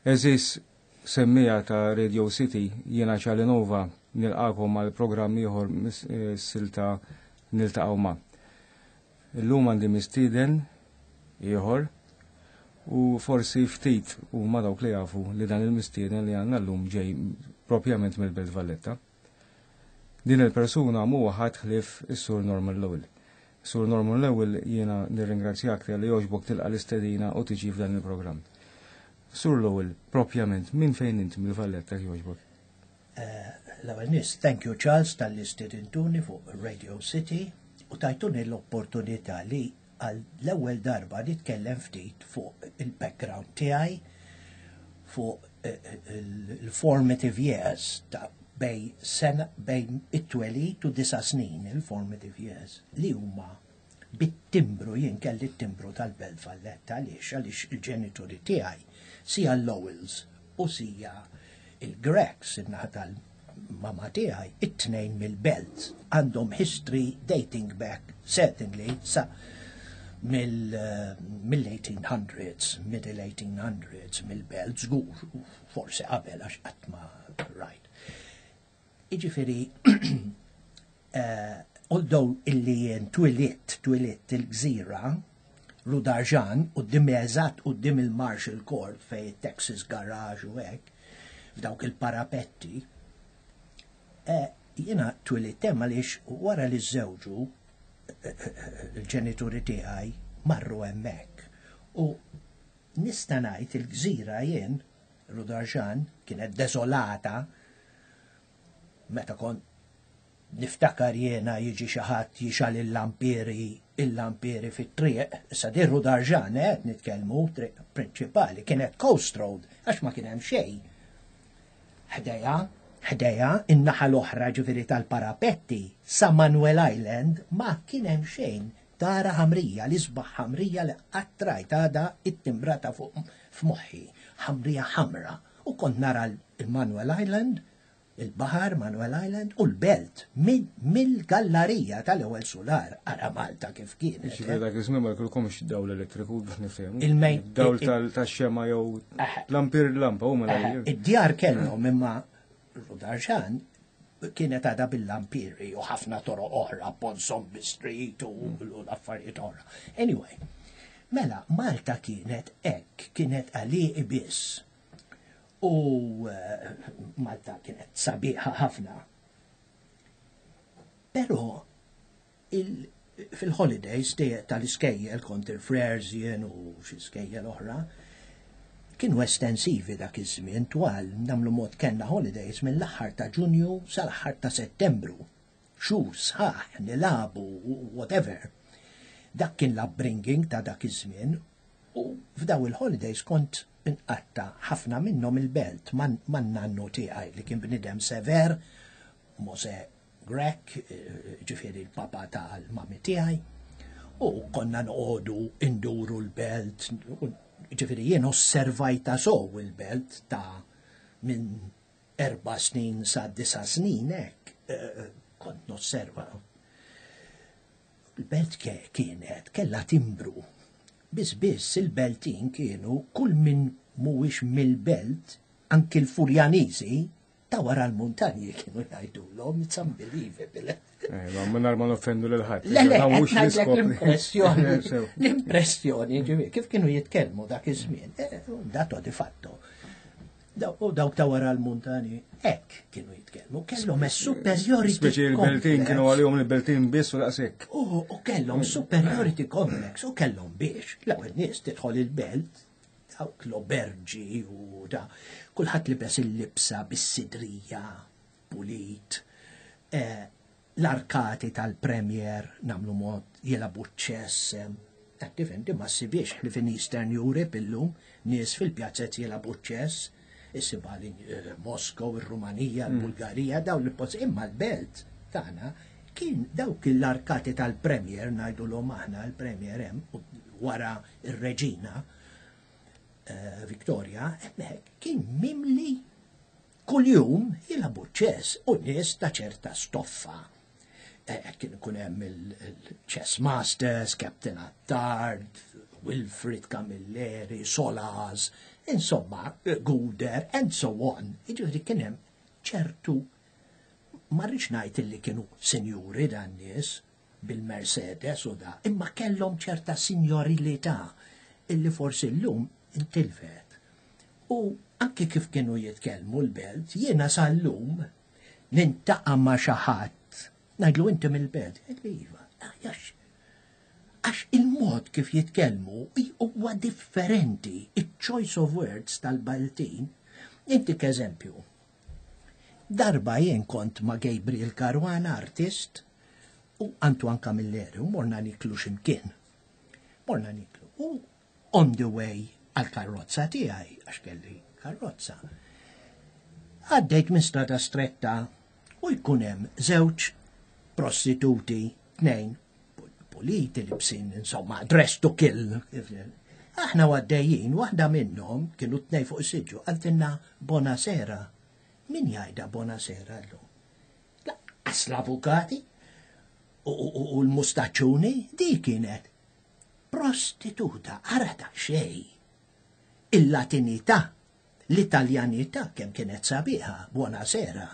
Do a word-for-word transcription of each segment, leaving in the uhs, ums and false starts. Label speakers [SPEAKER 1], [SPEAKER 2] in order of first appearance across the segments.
[SPEAKER 1] Għeżież semmiegħa ta' Radio City, jiena Charlie Nova nilqagħkom għal programm ieħor mis-silta Niltaqgħu Ma'. Illum għandi mistieden ieħor u forsi ftit huma dawk li jafu li dan il-mistieden li għandna llum ġej propjament mill-Belt Valletta. Din il-persuna mhu ħadd ħlief is-Sur Norman Lowell. Sur Norman Lowell, jiena nirringrazzjak li għoġbok tilqa l-istedina u tiġi f'dan il-programm. Sur Lowell, propjament, minn fejn inti mill-Valletta, jogħġbok?
[SPEAKER 2] Eh, l-ewwel nett, thank you, Charles, talli stedintuni fuq Radio City u tajtuni l-opportunità li għal l-ewwel darba nitkellem ftit fuq il-background tiegħi, fuq eh, eh, il-formative years ta' bejn sena, bejn it-twelid u disa' snin, il-formative years li huma bit-timbru, jien kelli t-timbru tal-Belt Valletta. Għaliex? Għaliex il-ġenituri tiegħi, sija l-Lowells u sija il-Grecs, in-naħa tal-mama tiegħi, it-tnejn mill-Belt, għandhom history dating back certainly sa mill-eighteen hundreds, middle eighteen hundreds, mill-Belt żgur, forsi qabel għax qatt ma right. Iġifieri, uh, although illi jien twelidt, twelidt il-Gżira, Rue d'Argent, u eżatt quddiem il-Marshall Court fej Texas Garage u hekk, f'dawk il-parapetti, eh, jiena twelidt hemm għaliex wara li żewġu eh, eh, il-ġenituri tiegħi marru hemmhekk. U nista' ngħid il-Gżira jien, Rue d'Argent, kienet desolata meta kont niftakar jiena jiġi xi ħadd jixgħel il-lampieri il-lampieri fit-triq, issa din Rue d'Argent qed nitkellmu, triq prinċipali, kienet Coast Road, għax ma kien hemm xejn. Ħdejha, ħdejha, in-naħa l-oħra ġifieri tal-parapetti, sa Manuel Island ma kien hemm xejn. Tara ħamrija, l-isbaħ ħamrija li qatt rajt, għadha it-timbrata fuq f'moħħi, ħamrija ħamra. U kont nara il-Manuel Island, il-Bahar, Manuel Island u l-Belt mill-gallarija tal-ewwel sular. Ara Malta kif kienet.
[SPEAKER 1] Ġifieri dak iż-żmien ma jkollkomx dawl elettriku, biex nifhemu.
[SPEAKER 2] Il-main-
[SPEAKER 1] Dawl tal-xema jew lampir, lampa u mela.
[SPEAKER 2] Id-djar kellhom, imma Rue d'Argent kienet għadha bil-lampiri u ħafna toroq oħra, Ponsonby Street u u l-affarijiet oħra. Anyway, mela Malta kienet hekk, kienet għalieqi biss. U eh, Malta kienet sabiħa ħafna. Però il- fil-holidays tal-iskejjel, kont il-Frères jien u xi skejjel oħra, kienu estensivi dak iż-żmien, twal, nagħmlu mod kellna holidays mill-aħħar ta' Ġunju sal-aħħar ta' Settembru. Xhur sħaħ nilagħbu, whatever. Dak kien l-upbringing ta' dak iż-żmien u f'daw il-holidays kont inqatta ħafna minnhom il-Belt man-nannu tiegħi li kien bnidem sever, Mose Grech, eh, ġifieri l-papa tal-mami tiegħi, u konna noqogħdu induru l-Belt, ġifieri jien osservajta sow il-Belt ta' minn erba' snin sa' disa' snin hekk, eh, kont nosserva. Il-Belt kienet kella timbru. Biss biss il-Beltin kienu kull min mhuwiex mill-Belt, anki l-Furjaniżi, ta' wara l-muntanji kienu jgħidulhom, it's unbelievable.
[SPEAKER 1] Eh, ma mingħajr ma noffendu lil ħadd.
[SPEAKER 2] Le, le, l-impressjoni, l-impressjoni, ġifieri, kif kienu jitkellmu dak iż-żmien, eh, dato di fatto. U dawk ta' wara l-muntani, hekk kienu jitkellmu, kellhom superiority.
[SPEAKER 1] Speċi il-Beltin kienu għalihom il-Beltin biss u daqshekk.
[SPEAKER 2] U kellhom superiority complex u kellhom biex. L-ewwel nies tidħol il-Belt, dawk l-oberġi u da, kulħadd libes il-libsa bis-sidrija, pulit, eh, l-arkati tal-Premier, nagħmlu mod jilagħbu ċess, tifhem, ma ssibhiex li fin Eastern Europe illum, nies fil-pjazzet jilagħbu ċess, issibha li eh, Moskow, il-Rumanija, mm. il-Bulgarija, daw li post, imma l-Belt tagħna kien dawk l-arkati tal-Premier, ngħidu aħna l-Premier hemm wara ir-Reġina eh, Victoria, hemmhekk kien mimli kuljum jilagħbu ċess u nies ta' ċerta stoffa. Eh, kien ikun hemm il-Chess Masters, Captain Attard, Wilfrid Camilleri, Solaz, Insomma, Gouder, and so on. Jiġifieri kien hemm ċertu, ma rridx ngħid li kienu sinjuri dan nies bil-Mercedes u da, imma kellhom ċerta signorilità illi forsi llum intilfet. U anke kif kienu jitkellmu l-Belt, jiena sal-lum niltaqa' ma' xi ħadd, ngħidlu, "Inti mill-Belt?" Jgħidli, "Iva." Għax għax il-mod kif jitkellmu huwa differenti, il-choice of words tal-Baltin. Intik eżempju. Darba jien kont ma' Gabriel Caruana, artist, u Antoine Camilleri, u morna niklu ximkien. Morna niklu. U on the way għal-karrozza tiegħi, għax kelli karrozza. Għaddejt minn Strada Stretta u jkun hemm żewġ prostituti, tnejn, puliti libsin, insomma, dress to kill. Aħna għaddejjin, waħda minnhom, kienu tnejn fuq is-siġġu, qaltilna, "Buonasera." Min jgħidha "buonasera" llum? Lanqas l-avukati u, u, u l-mustaċuni, di kienet prostituta, ara ta' xej. Il-Latinità, l-Italjanità kemm kienet sabiħa, "buonasera."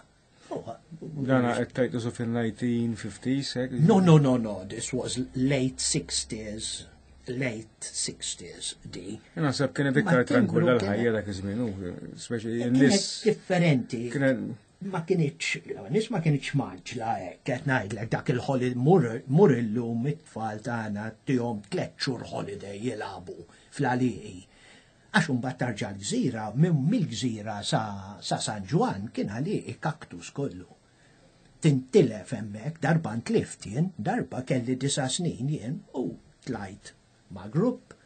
[SPEAKER 1] Dana qed tgħidu su fil-nineteen fifties, hekk?
[SPEAKER 2] No, no, no, no, this was late sixties, late sixties di.
[SPEAKER 1] Naħseb kienet iktar
[SPEAKER 2] Ma
[SPEAKER 1] tranquilla
[SPEAKER 2] timbru
[SPEAKER 1] l-ħajja dak iż-żmien, u speċi
[SPEAKER 2] Kienet
[SPEAKER 1] n-nies
[SPEAKER 2] differenti.
[SPEAKER 1] Kienet
[SPEAKER 2] Ma kienitx, nies ma kienitx mgħaġġla hekk, qed ngħidlek dak il-holiday, mur mur illum it-tfal tagħna tihom tliet xhur holiday jilagħbu fl-għalieqi. Għax imbagħad tarġa' l-Gżira, minn mill-Gżira sa, sa San Ġwann kien għalieqi, kaktus kollu. Tintilef hemmhekk, darba ntlift jien, darba kelli disa' snin jien u tlajt ma' grupp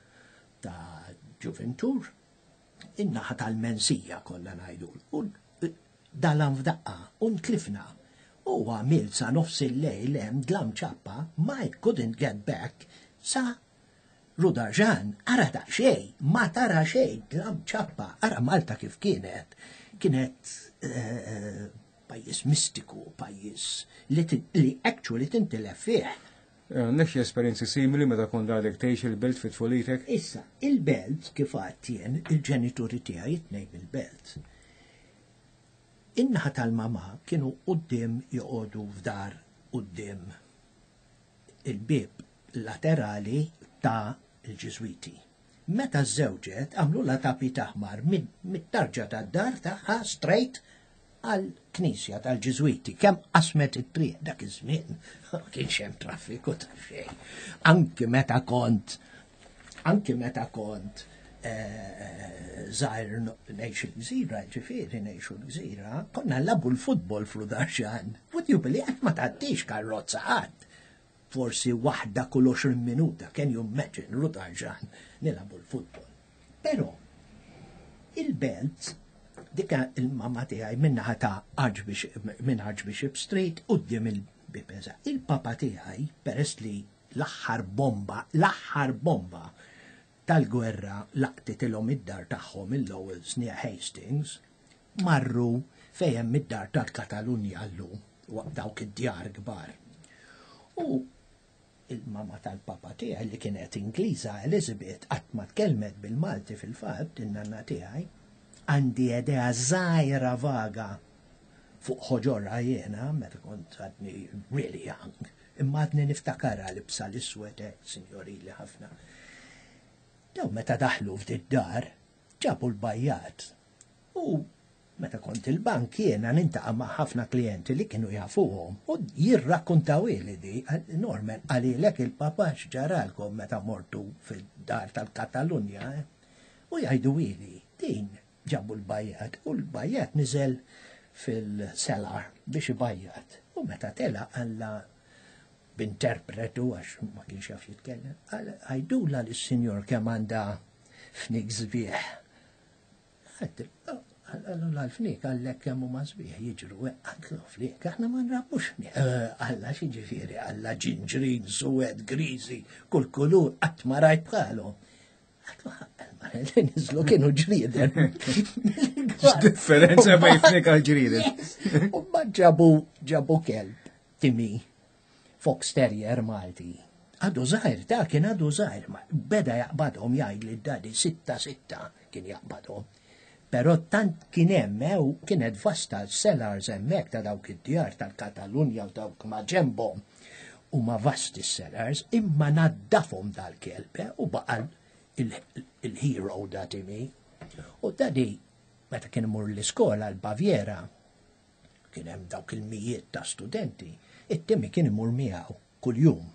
[SPEAKER 2] ta' ġuventur in-naħa tal-Mensija konna ngħidu. U dalam f'daqqa, u ntlifna. U għamil sa nofs il-lejl hemm dlam ċappa, ma I couldn't get back sa Rue d'Argens, ara ta' xej, ma tara xej, dlam ċappa, ara Malta kif kienet. Kienet eh, pajjiż mistiku, pajjiż li, ti- li actually tintilef fih.
[SPEAKER 1] Għandek xi esperjenzi simili meta kont għadek tgħix il-Belt fit tfulitek?
[SPEAKER 2] Issa, il-Belt, kif għedt jien, il-ġenituri tiegħi it-tnejn bil-Belt. In-naħa tal-mama kienu quddiem, joqogħdu f'dar quddiem il-bib laterali ta' il-Ġiżwiti. Meta żżewġet, għamlu la tapit aħmar mid-tarġa tad-dar tagħha straight għal knisja tal-Ġiżwiti. Kemm qasmet it-triq dak iż-żmien, ma kienx hemm traffiku ta' xejn. Anki meta kont anki meta kont eh, żgħir ngħix il-Gżira, ġifieri ngħixu l-Gżira, konna nilagħbu l-futbol f'Rue d'Argens. Would you believe, għax ma tgħaddix karrozza qatt. Forsi waħda kull għoxrin minuta, can you imagine, Rue d'Argens, nilagħbu l-futbol. Però, il-Belt, dika il-mama tiegħi min-naħa ta' Archbishop, minn Archbishop Street, quddiem il-bib eżatt. Il-papa tiegħi, peress li l-aħħar bomba, l-aħħar bomba tal-gwerra laqtitilhom id-dar tagħhom, il-Lowells near Hastings, marru fejn id-dar tal-Katalunja llum, waqt dawk id-djar kbar. U il-mama tal-papa tiegħi li kienet Ingliża, Elizabeth, qatt ma tkellmet bil-Malti fil-fatt, in-nanna tiegħi, għandi idea żgħira vaga fuq ħoġorha jiena meta kont għadni really young, imma għadni niftakarha libsa l-iswed hekk, signorili ħafna. Daw meta daħlu f'did dar, ġabu l-bajjat. U meta kont il-bank jiena niltaqa' ma' ħafna klijenti li kienu jafuhom u jirrakkontaw li di, "Norman, qalilek il-papa x'ġaralkom meta mortu fid-dar tal-Katalunja, eh?" U jgħidu ili, din ġabu l-bajjat u l-bajjat niżel fil-cellar biex ibajjat. U meta tela għalla b'interpretu għax ma kienx jaf jitkellem, "Għajdula lis-sinjor kemm għandha fnik sbieħ." Għallu l-fnik għallek kemm huma sbieħ jiġru, għallu fnik, aħna ma nrabbux fnik. Għalla x'jiġifieri, għalla ġinġrin, suwed, griżi, kull kulur, qatt ma rajt bħalhom. Għallu nizlu kienu ġrieden.
[SPEAKER 1] Differenza bejn fnik għal ġrieden.
[SPEAKER 2] U ma ġabu ġabu kelb, Timmy, Fox Terrier Malti. Għadu żgħir, ta' kien għadu żgħir, ma beda jaqbadhom, jgħid li daddy, "Sitta sitta." kien jaqbadhom. Però tant kien hemm eh, u kienet vasta l-cellars hemmhekk ta' dawk id-djar tal-Katalunja u dawk ma' ġembhom u ma vasti cellars, imma naddafhom dal-kelb eh, u baqa' il-hero da Timmy. U daddy, meta kien imur l-iskola l-Baviera, kien hemm dawk il-mijiet ta' studenti, it-Timmy kien imur miegħu kuljum.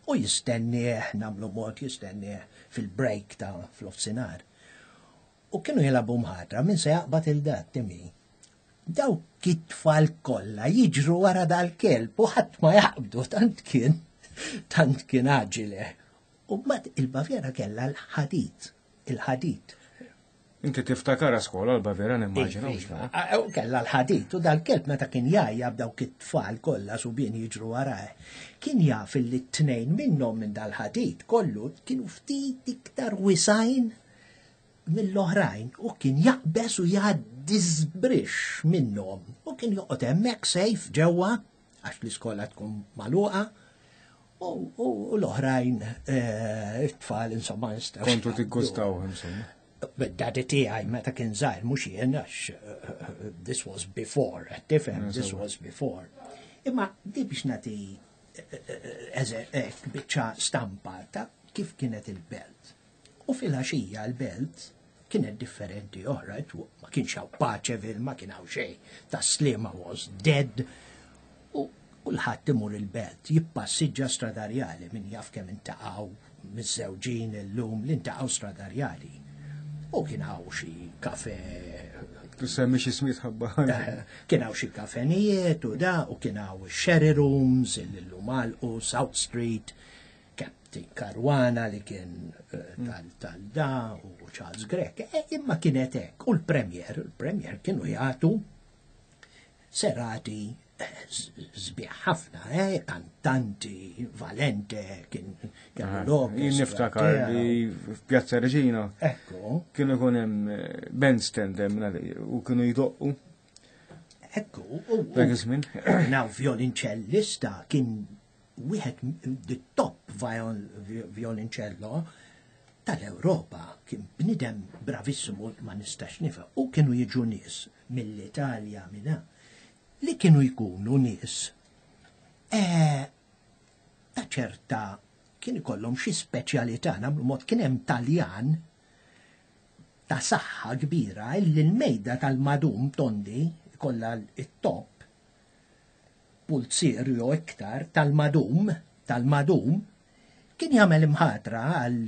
[SPEAKER 2] U jistennieh, nagħmlu mod jistennieh fil-break ta' fl-offsinar. U kienu jilagħbu mħatra min se jaqbad 'il dat Timmy. Dawk it-tfal kollha jiġru wara dal-kelb u ħadd ma jaqbdu, tant kien tant kien aġile. U mbagħad il-Baviera kellha l-ħadid, il-ħadid.
[SPEAKER 1] Inti tiftakar skola l-Baviera, nimmaġina, mhux vera?
[SPEAKER 2] U kellha l-ħadid u dal-kelb meta kien jgħajja b'dawk it-tfal kollha subien jiġru warajh. Kien jaf li t-tnejn minnhom minn dal-ħadid kollu kienu ftit iktar wisgħin mill-oħrajn u kien jaqbes u jgħaddi żbrix minnhom u kien joqgħod hemmhekk safe ġewwa għax l-iskola tkun magħluqa u u l-oħrajn eh, it-tfal insomma jistgħu.
[SPEAKER 1] Kontu tiggustaw, insomma.
[SPEAKER 2] Daddy tiegħi meta kien żgħir, mhux jien, għax eh, this was before, tifhem, this was before. Imma di biex nagħti eh, biċċa stampa ta' kif kienet il-belt. U fil-għaxija l-belt kienet differenti oħra, ma kienx hawn Paceville, ma kien hawn xejn. Tas-Sliema was dead. U kulħadd imur il-belt, jippassiġġa Strada Rjali, min jaf kemm iltaqgħu miżżewġin illum li ltaqgħu Strada Rjali. U kien hawn xi kafe.
[SPEAKER 1] Tusemmi xi smiet ħabba.
[SPEAKER 2] Kien hawn xi kafenijiet u da, u kien hawn sherry rooms, illum u South Street, Captain Caruana li kien eh, tal-da u Charles Grech. E, imma kienet hekk. U l-Premier, il-Premier kienu jagħtu serati sbieħ ħafna, eh, kantanti, Valente, kien kellu l-orkestra.
[SPEAKER 1] Jien niftakar li f'Pjazza Reġina
[SPEAKER 2] Ekku.
[SPEAKER 1] kienu jkun hemm eh, bandstand hemm u kienu jdoqqu
[SPEAKER 2] Ekku. u-
[SPEAKER 1] dak iż-żmien.
[SPEAKER 2] Now violincellista kien wieħed the top viol, violoncello tal-Ewropa, kien bnidem bravissimu, ma nistax nifhem. U kienu jiġu nies mill-Italja minna li kienu jkunu nies eh, ta' ċerta kien ikollhom xi speċjalità, nagħmlu mod, kien hemm Taljan ta' saħħa kbira illi l-mejda tal-madum tondi kollha it-top pulzier jew iktar tal-madum tal-madum kien jagħmel imħatra għal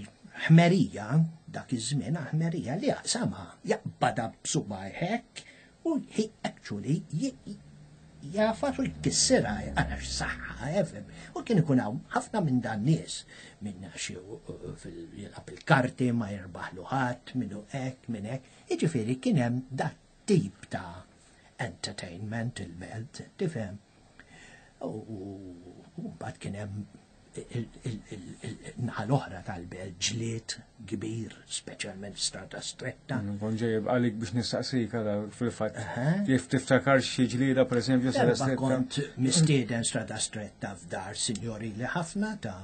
[SPEAKER 2] ħmerija dak iż-żmien, ħmerija li jaqsamha, jaqbadha b'subgħajh hekk u he actually jagħfas u jkissirha għax saħħa, efhem. U kien ikun hawn ħafna minn dan nies minn xi jilgħab il-karti ma jirbaħlu ħadd, minnu hekk, minn hekk. Jiġifieri kien hemm dat tip ta' entertainment il-belt, tifhem. U mbagħad kien hemm il-naħa l-oħra tal-belt, ġlied kbir, speċjalment Strada Stretta.
[SPEAKER 1] Kont ġej għalik biex nistaqsik għada fil-fatt. Kif tiftakar xi ġlieda, per eżempju, Strada
[SPEAKER 2] Darba
[SPEAKER 1] Stretta?
[SPEAKER 2] kont mistieden Strada Stretta f'dar signorili ħafna ta'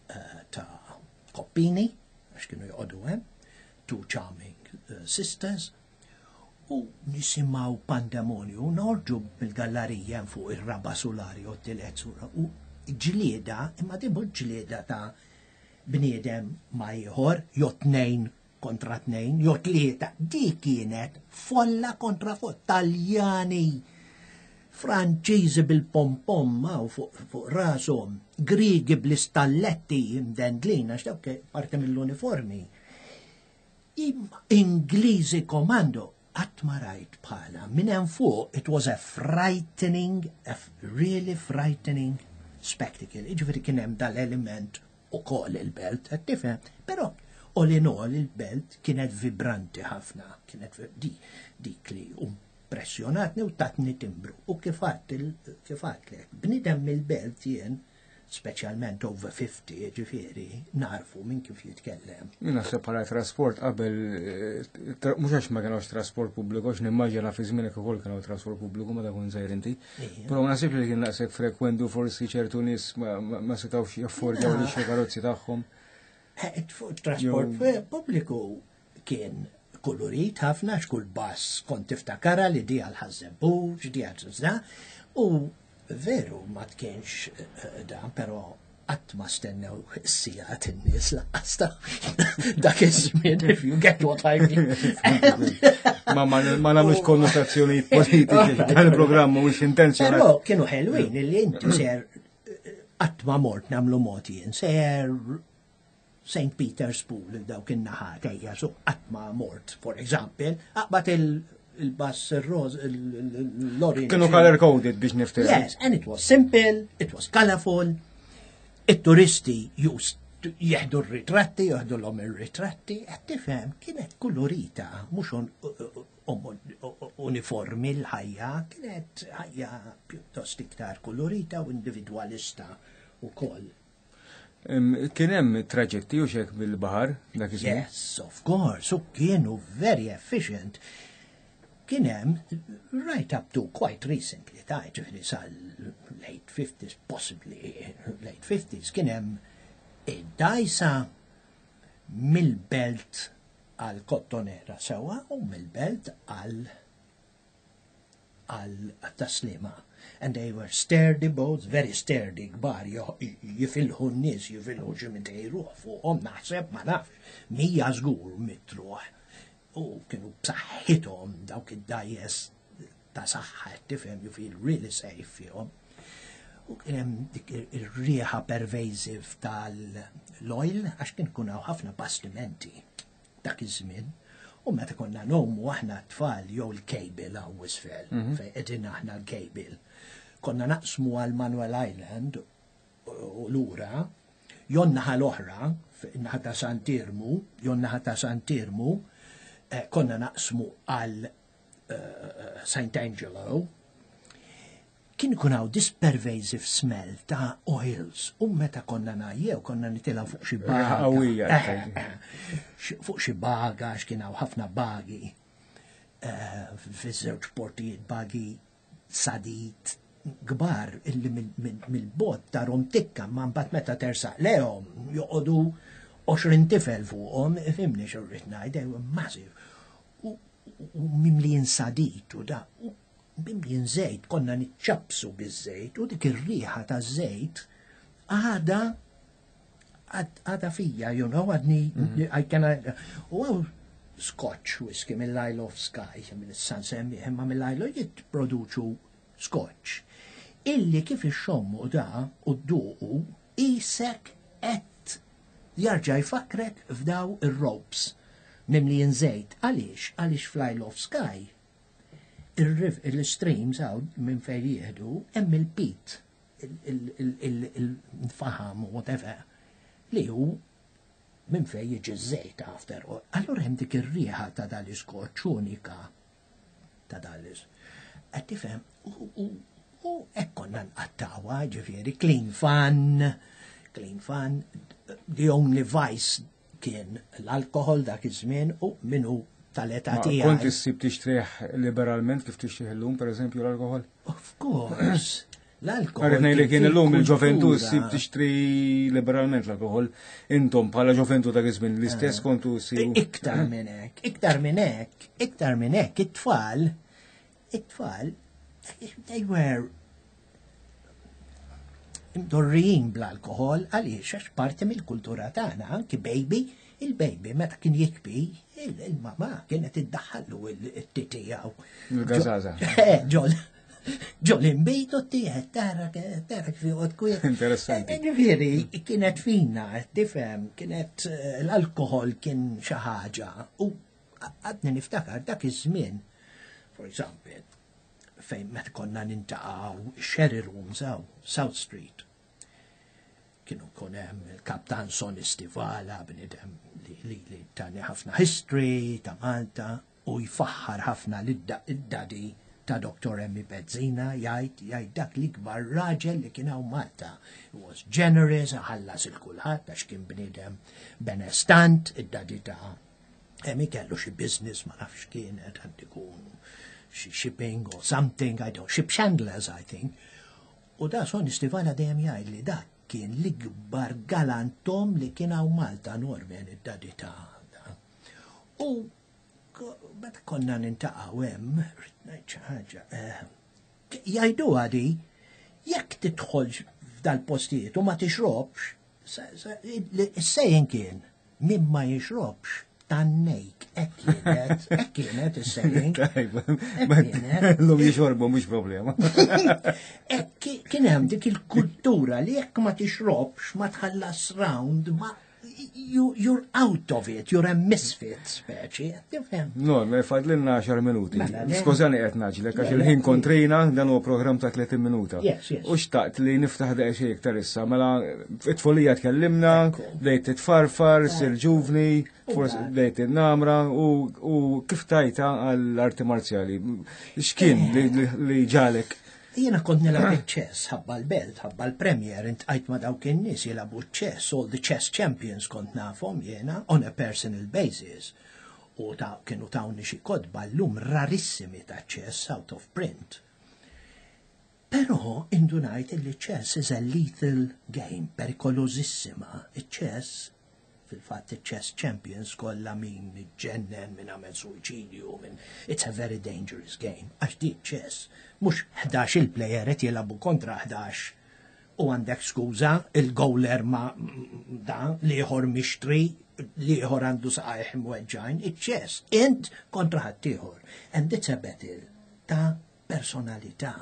[SPEAKER 2] eh, ta' Koppini, għax kienu joqogħdu hemm, two charming eh, sisters, u nisimgħu pandemonju, noħorġu bil-gallerija fuq ir-raba sulari u t-tielet sura, u ġlieda, imma di mhux ġlieda ta' bniedem ma' ieħor, jew tnejn kontra tnejn, jew tlieta, di kienet folla kontra folla, Taljani, Franċiżi bil-pompom u fuq fuq rashom, Grigi bl-istalletti imdendlin, għax dawk parti mill-uniformi. Imma Ingliżi komando, qatt ma rajt bħala. Minn hemm fuq, it was a frightening, a really frightening spectacle. Jiġifieri kien hemm dal-element ukoll il-belt, qed tifhem? Però all in all il-belt kienet vibranti ħafna, kienet di, dik li impressjonatni u tatni timbru. U kif għedt kif għedtlek, bniedem mill-belt jien, speċjalment over fifty, ġifieri, narfu minn kif jitkellem.
[SPEAKER 1] Jien naħseb bħala trasport qabel, eh, tra- mhux għax ma kienx trasport pubbliku, għax nimmaġina fi żmienek ukoll kienu trasport pubbliku meta kont żgħir inti.
[SPEAKER 2] Ija.
[SPEAKER 1] Però ma naħsibx li kien daqshekk frekwenti, forsi ċertu nies ma, ma, ma setgħux jaffordjaw li xi karozzi tagħhom.
[SPEAKER 2] Eh, fuq trasport
[SPEAKER 1] Jew-
[SPEAKER 2] pubbliku Kien kolorit ħafna, x'kull bus kont tiftakara li di għal Ħaż-Żebbuġ, di għal Zna, u veru ma tkienx eh, dan, però qatt ma stennew s-sigħat in-nies lanqas ta' dak iż-żmien, if you get what I mean.
[SPEAKER 1] Ma ma ma nagħmlux konnotazzjonijiet politiċi, dan il-programm mhuwiex intenzjonat.
[SPEAKER 2] Però kienu ħelwin illi inti ser qatt ma mort nagħmlu moti jien, ser Saint Peter's Pool, dawk in-naħat ejja, so qatt ma mort, for example, aqbad il-bus il-roż, l-orange.
[SPEAKER 1] Kienu color coded biex niftehmu.
[SPEAKER 2] Yes, and it was simple, it was colorful. It-turisti used jieħdu r-ritratti, jieħdu l-om ir-ritratti, qed tifhem, kienet kolorita, mhux uniformi l-ħajja, kienet ħajja pjuttost iktar kolorita u individualista u koll.
[SPEAKER 1] Kien hemm traġetti u xek bil-baħar dak iż-żmien?
[SPEAKER 2] Yes, of course, u kienu very efficient. Kien hemm right up to quite recently, ta' ġifieri sal late fifties, possibly late fifties, kien hemm id-dajsa mill-Belt għal Kottonera sewa u mill-Belt għal għal Tas-Sliema. And they were sturdy boats, very sturdy, kbar, jifilħu n-nies, jifilħu xi mitejn ruħ fuqhom, naħseb, ma nafx, mija żgur mitt ruħ. U kienu b'saħħithom dawk id-dgħajjes ta' saħħa, tifhem, you feel really safe fihom. U kien hemm dik ir-riħa pervasive tal-oil, għax kien kun hawn ħafna bastimenti dak iż-żmien. U meta konna ngħumu aħna tfal jew il-cable hawn isfel, mhm. fejn qegħdin aħna l-cable. Konna naqsmu għal Manuel Island u lura, jew naħa l-oħra, naħa ta' Sant'Iermu, jew naħa ta' Sant'Iermu, eh, konna naqsmu għal eh, Saint Angelo, kien ikun hawn this pervasive smell ta' oils u meta konna ngħajjew konna nitilgħu fuq xi baga.
[SPEAKER 1] Eh,
[SPEAKER 2] eh, fuq xi baga, għax kien hawn ħafna bagi eh, fiż-żewġ portijiet, bagi sadid kbar illi mill-bogħod tarahom tikka, ma mbagħad meta tersaq lejhom joqogħdu għoxrin tifel fuqhom, fhimtni x'irrid ngħid, they were massive. U mimlijin sadid u da, u mimlijin żejt, konna niċċapsu biż-żejt u dik ir-riħa ta' żejt għada għada fija, you know, għadni, mhm. I can, u hawn Scotch whisky mill-Isle of Skye, mill-San Semmi, imma mill-Isle jitproduċu Scotch. Illi kif ixxommu da u dduqu isek qed jarġa' jfakrek f'daw ir-ropes mimlijin żejt. Għaliex? Għaliex fl-Isle of Skye il-streams hawn minn fejn jieħdu hemm il-peat, il-faham, whatever, li hu minn fejn jiġi żejt after all. Allura hemm dik ir-riħa ta' dal-iskotch unika ta' dal-is. Qed tifhem, u hekk konna nqattawha, ġifieri clean fun, clean fun, the only vice kien l-alkohol dak iż-żmien u minnu tal-età tiegħi.
[SPEAKER 1] Kont issib tixtrih liberalment kif tixtrih illum, pereżempju, l-alkohol?
[SPEAKER 2] Of course. L-alkohol.
[SPEAKER 1] Għaret li kien illum il-ġoventu ssib tixtri liberalment l-alkohol. Intom bħala ġoventu dak iż-żmien l-istess eh. kontu ssibu.
[SPEAKER 2] Iktar minn hekk, iktar minn hekk, iktar minn hekk, it-tfal, it-tfal, they were imdorrijin bl-alkohol. Għaliex? Għax parti mill-kultura tagħna, anki baby, il-baby meta kien jikbi, il-mama kienet iddaħħallu it-titijaw.
[SPEAKER 1] Il-gażaża.
[SPEAKER 2] Eh, ġol. Ġol imbejtu t-tieħed, tara tara kif joqgħod kwiet.
[SPEAKER 1] Interessanti.
[SPEAKER 2] Eh, Ġifieri, kienet fina, tifhem, kienet eh, l-alkohol kien xi ħaġa. U għadni niftakar dak iż-żmien, for example, fejn meta konna niltaqgħu Sherry Rooms hawn, South Street. Kienu kun hemm il-kaptan Sonny Stivala, bniedem li, li, li tani ħafna history ta' Malta u jfaħħar ħafna lid-daddy ta' Doctor Emmy Bezzina, jgħid jgħid dak l-ikbar raġel li kien hawn Malta. He was generous, ħallas lil kulħadd għax kien bniedem benestant, id-daddy ta' Emmy kellu xi business, ma nafx kienet għand ikun xi shipping or something, I don't, ship chandlers, I think. U da Sonny Stivala dejjem jgħid li dak kien l-ikbar galantom li kien hawn Malta, Norman, id-daddy ta' da. U meta konna niltaqgħu hemm, rrid ngħid xi ħaġa, eh, jgħidu għadi, jekk tidħol f'dal-postijiet u ma tixrobx, is-saying kien, min ma jixrobx, tannejk, hekk kienet, hekk kienet is-saying.
[SPEAKER 1] L-lum jixorbu mhux problema.
[SPEAKER 2] Hekk kien hemm dik il-kultura li jekk ma tixrobx, ma tħallas round, ma you, you're out of it, you're a misfit, speċi, tifhem?
[SPEAKER 1] No, ma fadlilna għaxar minuti. Mela, skużani qed ngħaġġlek, għax il-ħin kontrina, dan huwa programm ta' tletin minuta.
[SPEAKER 2] Yes, yes.
[SPEAKER 1] U xtaqt li niftaħ daqsxejn iktar issa, mela it-tfulija tkellimna, bdejt titfarfar, sir ġuvni, forsi bdejt in-namra u kif tajta għall-arti marzjali. X'kien li ġalek?
[SPEAKER 2] Jiena kont nilgħab chess ħabba l-belt, ħabba l-Premier, iltqajt ma' dawk in-nies jilagħbu chess, all the chess champions kont nafhom jiena on a personal basis. U ta' kienu tawni xi kotba llum rarissimi ta' chess out of print. Però indunajt li chess is a lethal game, perikolosissima. Il-chess, fil-fatt il-chess champions kollha min ġennen, min għamel suwiċidju, min it's a very dangerous game. Għax di chess, mhux ħdax il-player qed jilagħbu kontra ħdax u għandek skuża, il-goaler ma da, l-ieħor mixtri, l-ieħor għandu saqajh mweġġajn, il-chess, int kontra ħaddieħor. And it's a battle ta' personalità.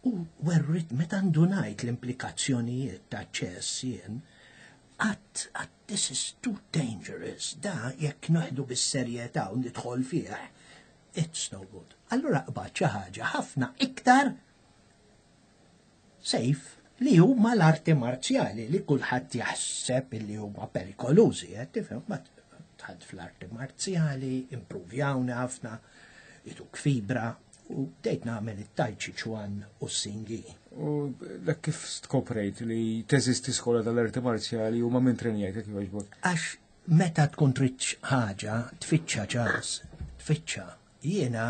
[SPEAKER 2] U werrit, meta ndunajt l-implikazzjonijiet ta' chess jien, għedt, għedt this is too dangerous, da jekk noħdu bis-serjetà u nidħol fih, it's no good. Allura qbad xi ħaġa ħafna iktar safe li huma l-arti marzjali li kulħadd jaħseb li huma perikolużi, qed tifhem, ma dħalt fl-arti marzjali, improvjawna ħafna, jtuk fibra, u bdejt nagħmel it-Tai Chi Chuan u s-Xing Yi.
[SPEAKER 1] U dak kif skoprejt li teżisti skola tal-arti marzjali u ma' min trenjajt jekk jogħġbok?
[SPEAKER 2] Għax meta tkun trid ħaġa, tfittxa ċans, tfittxa. Jiena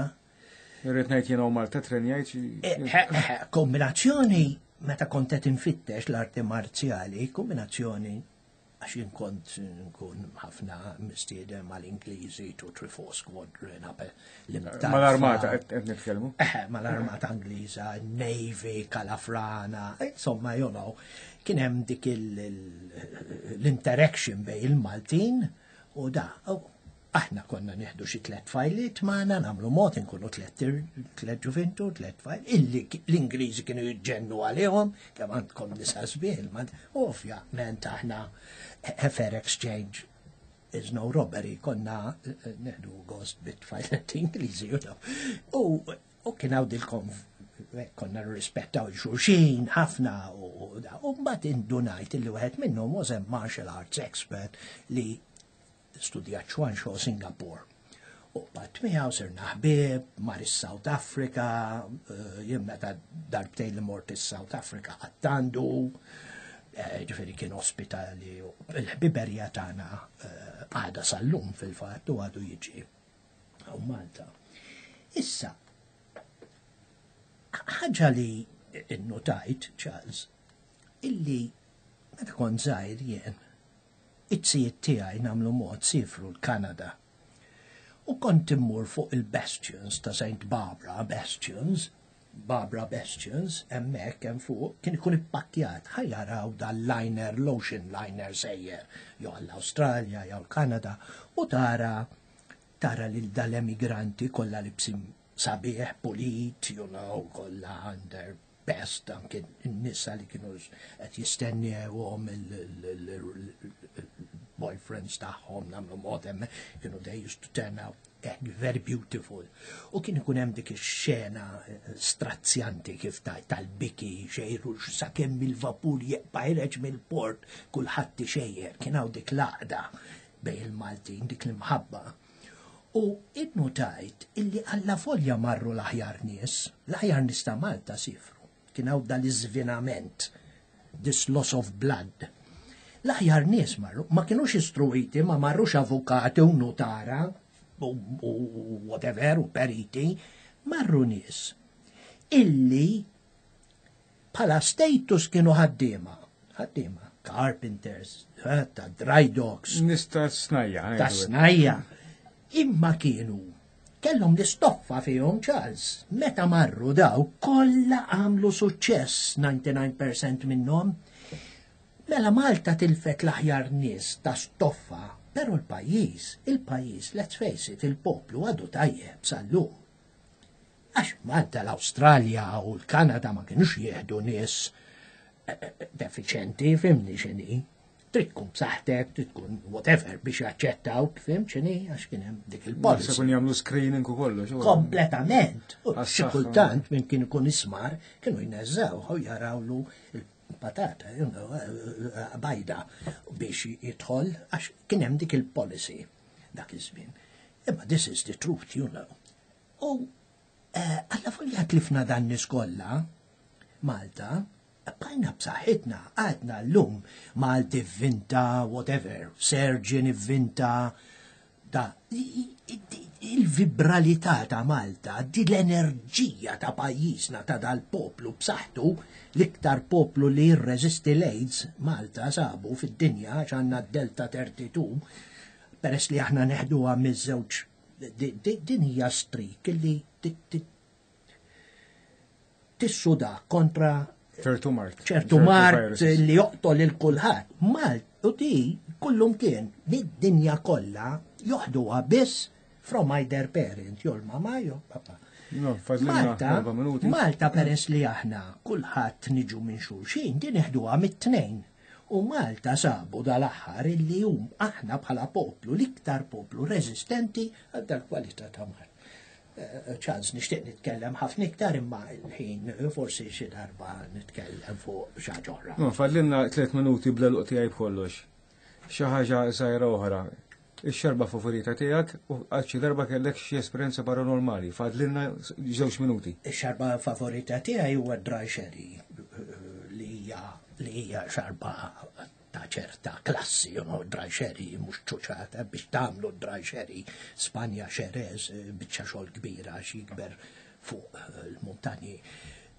[SPEAKER 1] Irrid ngħid jiena u Malta trenjajt.
[SPEAKER 2] Eh, eh, kombinazzjoni meta kont qed infittex l-arti marzjali, kombinazzjoni għax jien kont nkun ħafna mistieden mal-Ingliżi, two three four Squadron, qabel l-imtarfa.
[SPEAKER 1] Mal-armata qed nitkellmu.
[SPEAKER 2] Eh, mal-armata Ingliża, Navy, Kalafrana, insomma, you know, kien hemm dik l-interaction bejn il-Maltin u da. U aħna konna nieħdu xi tliet tfajliet magħna nagħmlu mod inkunu tliet tliet ġuvintu, tliet tfajl, illi l-Ingliżi kienu jiġġennu għalihom, kemm għandkom nisa sbieħ, u ovvjament aħna a fair exchange is no robbery, konna nieħdu gost bit-tfajliet Ingliżi, you know. U u kien hawn dilkom konna nirrispettaw xulxin ħafna u u mbagħad indunajt illi wieħed minnhom was a martial arts expert li studja Chuan Shou Singapore. U bat miegħu sirna ħbieb, mar is-South Africa, eh, jien meta darbtejn li mort is-South Africa għattandu, eh, ġifieri kien ospitali, u l-ħbiberja tagħna eh, għadha sal-lum fil-fatt u għadu jiġi hawn Malta. Issa, ħaġa li innotajt, Charles, illi meta kont żgħir jien, it-sijiet tiegħi nagħmlu mod sifru l-Kanada. U kont immur fuq il-Bastions ta' Saint Barbara Bastions, Barbara Bastions, hemmhekk hemm fuq, kien ikun ippakkjat, ħa jaraw dal-liner, l-ocean liner sejjer, jew l-Awstralja, jew l-Kanada, u tara tara lil dal-emigranti kollha libsin sabiħ, pulit, you know, kollha under best, anke n-nisa li kienu qed jistennewhom il-boyfriends tagħhom nagħmlu mod hemm kienu they used to turn out eh, very beautiful. U kien ikun hemm dik ix-xena eh, strazzjanti kif taj tal-biki xejru sakemm il-vapur jeqpa ħireġ mill-port kulħadd ixejjer, kien hawn dik l-għaqda bejn il-Maltin, dik l-imħabba. U innotajt illi alla folja marru l-aħjar nies, l-aħjar nies ta' Malta sifru. Kien hawn dal-iżvinament, this loss of blood. L-aħjar nies marru, ma kienux istruiti, ma marrux avukati u notara, u, u whatever, u periti, marru nies illi bħala status kienu ħaddiema, ħaddiema, carpenters, eh, ta' dry docks,
[SPEAKER 1] Nista snajja.
[SPEAKER 2] Ta' snajja. Imma kienu kellhom l-istoffa fihom, Charles. Meta marru daw kollha għamlu suċċess, disgħa u disgħin fil-mija minnhom. Mela Malta tilfet l-aħjar nies ta' stoffa, pero l-pajjiż, il-pajjiż, let's face it, il-poplu għadu tajjeb sal-lum. Għax Malta, l-Awstralja u l-Kanada ma kienux jieħdu nies eh, eh, defiċenti, fhimni x'inhi. Trid tkun b'saħħtek, trid tkun whatever biex jaċċettaw, fhimt x'inhi, għax kien hemm dik il-policy.
[SPEAKER 1] Se kun jagħmlu screening u kollox.
[SPEAKER 2] Kompletament. U
[SPEAKER 1] Għas-saħħa.
[SPEAKER 2] xi kultant minn kien ikun ismar kienu jneżżaw u jarawlu il-patata, you know, eh, bajda biex jidħol, għax kien hemm dik il-policy dak iż-żmien. Imma this is the truth, you know. U eh, alla folja tlifna dan nies kollha, Malta, bqajna b'saħħitna, għadna l-lum Malti vvinta, whatever, surgeon ivvinta, da, i- i- il-vibralità ta' Malta, di l-enerġija ta' pajjiżna, ta' dal-poplu b'saħħtu, l-iktar poplu li jirreżisti l-AIDS, Malta sabu fid-dinja, għax għandna Delta tnejn u tletin, peress li aħna neħduha miż-żewġ, di- di- din hija streak li ti- ti- tissuda kontra
[SPEAKER 1] ċertu mard.
[SPEAKER 2] ċertu mard
[SPEAKER 1] viruses.
[SPEAKER 2] li joqtol il kulħadd. Malt u di kullum kien mid-dinja kollha joħduha biss from either parent, jew l-mama jew papa.
[SPEAKER 1] No, fadlilna
[SPEAKER 2] Malta,
[SPEAKER 1] erba' minuti.
[SPEAKER 2] Malta peress li aħna kulħadd niġu minn xulxin, din neħduha mit-tnejn. U Malta sabu dal-aħħar illi hum aħna bħala poplu, l-iktar poplu rezistenti għal dal-kwalità ta' mard. Eh, Charles, nixtieq nitkellem ħafna iktar, imma il-ħin, forsi xi darba nitkellem fuq xi ħaġa oħra.
[SPEAKER 1] No, fadlilna tliet minuti bla luq tiegħi b'kollox. Xi ħaġa żgħira oħra. Ix-xarba favorita tiegħek u għal xi darba kellek xi esperjenza paranormali. Fadlilna żewġ minuti.
[SPEAKER 2] Ix-xarba favorita tiegħi huwa dry sherry, li hija li hija xarba ta' ċerta klassi, you know, dry sherry mhux ċuċata. Biex tagħmlu dry sherry, Spanja, Xerez, biċċa xogħol kbira għax jikber fuq eh, il-muntanji.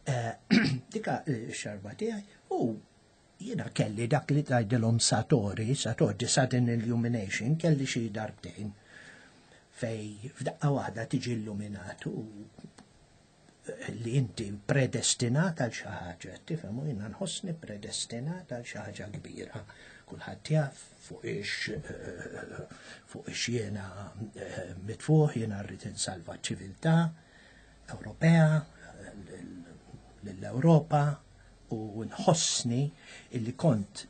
[SPEAKER 2] Eh, Dika xarba tiegħi u jiena kelli dak li tgħidilhom satori, satori, sudden illumination, kelli xi darbtejn fej f'daqqa waħda tiġi illuminat u li inti predestinat għal xi ħaġa, tifhem, u jiena nħossni predestinat għal xi ħaġa kbira. Kulħadd jaf fuq ix eh, fuq ix jiena eh, mitfuħ, jiena rrid insalva ċ-ċiviltà Ewropea, l-Ewropa, u nħossni illi kont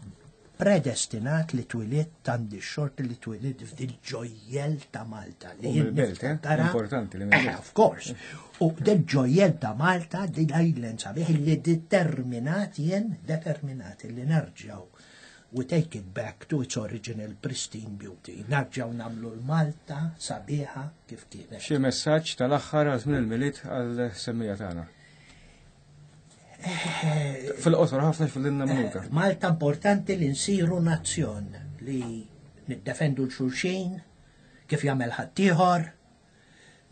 [SPEAKER 2] predestinat li twilidt, għandi xort li twilidt f'dil ġojjel ta' Malta. Li
[SPEAKER 1] U
[SPEAKER 2] jien
[SPEAKER 1] mill-belt, eh?
[SPEAKER 2] niftakara-
[SPEAKER 1] Importanti li
[SPEAKER 2] Eh,
[SPEAKER 1] mill-belt.
[SPEAKER 2] of course. U del ġojjel ta' Malta, di l-island sabiħ li determinat jien, determinat li nerġgħu. We take it back to its original pristine beauty. Nerġgħu nagħmlu l-Malta sabiħa kif kienet.
[SPEAKER 1] Xi messaġġ tal-aħħar għal żmien il-Milied għal-semmiegħa tagħna. Fil-qosor ħafna, fadlilna minuta.
[SPEAKER 2] Malta importanti li nsiru nazzjon li niddefendu l-xulxin kif jagħmel ħaddieħor,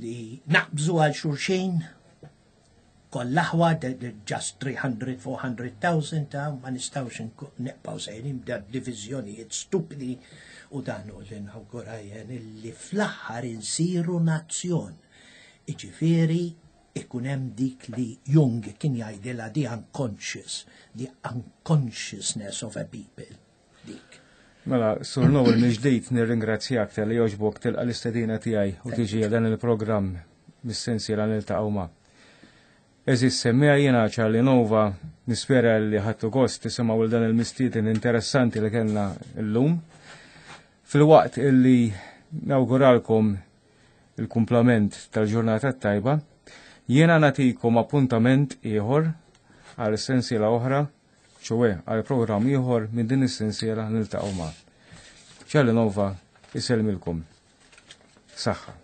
[SPEAKER 2] li naqbżu għal xulxin kollha aħwa, just tliet mija, erba' mija elf ta' ma nistgħux nku- neqpaw sejrin b'da diviżjonijiet stupidi, u dan hu li nawgura jien, li fl-aħħar insiru nazzjon. Iġifieri ikun hemm dik li Jung kien jgħidilha the unconscious, the unconsciousness of a people. Dik.
[SPEAKER 1] Mela, Sur Noel, mill-ġdid nirringrazzjak tal-li għoġbok tilqa l-istedina tiegħi u tiġi għal dan il-programm mis-sensiela Niltaqgħu Ma'. Għeżież semmiegħa, jiena Charlie Nova, nispera li ħadtu gost tisimgħu dan il-mistieden interessanti li kellna l-lum. Fil-waqt illi nawguralkom il-kumplament tal-ġurnata tajba, jiena nagħtikom appuntament ieħor għal sensiela oħra, ċoè għal programm ieħor minn din is-sensiela Niltaqgħu Ma'. Charlie Nova isellmilkom. Saħħa.